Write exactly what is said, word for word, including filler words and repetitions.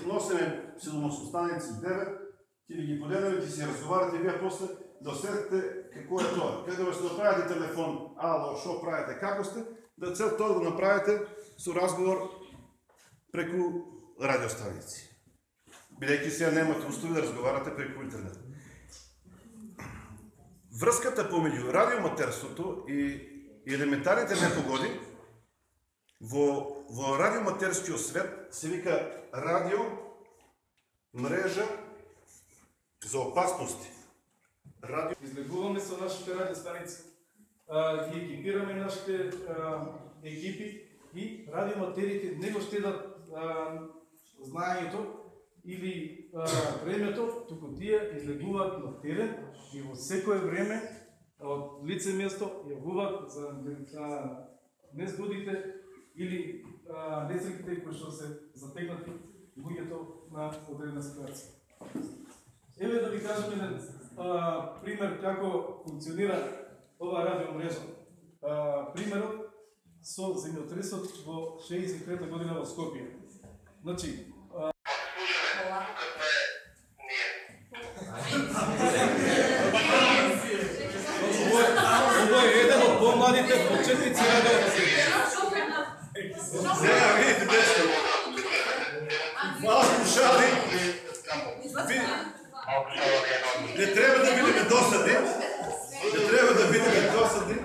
носиме седумдесет станици девет, ќе ви ги поделиме, ќе си разговарате вие после да осетите какво е тоа. Каде да се направите телефон, ало, шо правите, како сте, да цел тоа да го направите со разговор преку радиостаници. Бидејќи сега немате услови да разговарате преку интернет. Врската помеѓу радиоматерството и елементарните непогоди во во радиоматерскиот свет се вика радио мрежа за опасности. Радио излегуваме со нашите радиостаници, ги екипираме нашите екипи и радиоматерите не го штедат знаењето или времето, туку тие излегуваат на терен и во секое време од лице место јавуваат за незгодите или несреќите кои што се затегнати луѓето на одредена ситуација. Еве да ви кажам еден пример како функционира ова радиомрежа. Примерот со земјотресот во шеесет и трета година во Скопје. Значи, Ово е еден од помладите почетници радио. Сега видите дечко. Вас слушали. Не треба да бидеме досадни. Не треба да бидеме досадни.